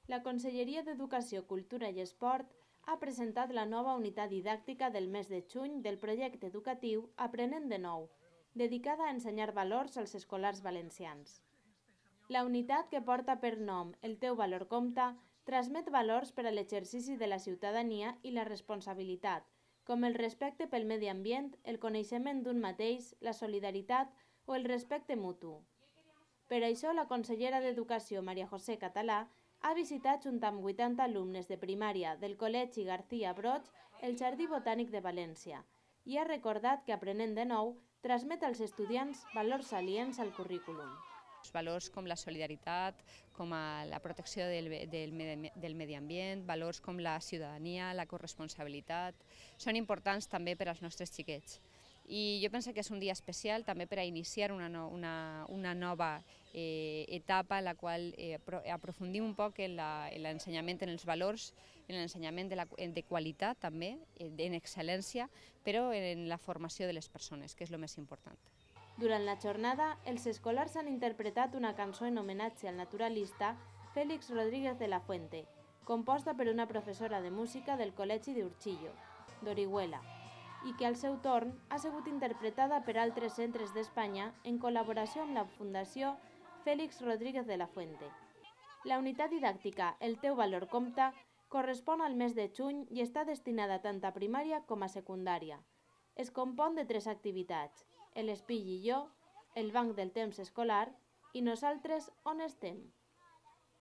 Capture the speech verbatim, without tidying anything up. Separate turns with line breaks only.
La Conselleria d'Educació, Cultura i Esport ha presentat la nova unitat didàctica del mes de juny del projecte educatiu Aprenent de nou, dedicada a ensenyar valors als escolars valencians. La unitat, que porta per nom El teu valor compta, transmet valors per a l'exercici de la ciutadania i la responsabilitat, com el respecte pel medi ambient, el coneixement d'un mateix, la solidaritat o el respecte mutu. Per això, la consellera d'Educació, Maria José Català, ha visitat, junt amb vuitanta alumnes de primària del Col·legi García Broig, el Jardí Botànic de València, i ha recordat que Aprenent de nou transmet als estudiants valors aliens al currículum.
Valors com la solidaritat, com la protecció del, del, del medi ambient, valors com la ciutadania, la corresponsabilitat, són importants també per als nostres xiquets. I jo penso que és un dia especial també per a iniciar una, no, una, una nova eh, etapa en la qual eh, aprofundim un poc en l'ensenyament, en els valors, en l'ensenyament de, la, de qualitat també, en excel·lència, però en la formació de les persones, que és el més important.
Durant la jornada, els escolars han interpretat una cançó en homenatge al naturalista Félix Rodríguez de la Fuente, composta per una professora de música del Col·legi d'Urchillo, d'Orihuela, i que al seu torn ha sigut interpretada per altres centres d'Espanya en col·laboració amb la Fundació Félix Rodríguez de la Fuente. La unitat didàctica El teu valor compta correspon al mes de juny i està destinada tant a primària com a secundària. Es compon de tres activitats: el espill i jo, el banc del temps escolar i nosaltres on estem.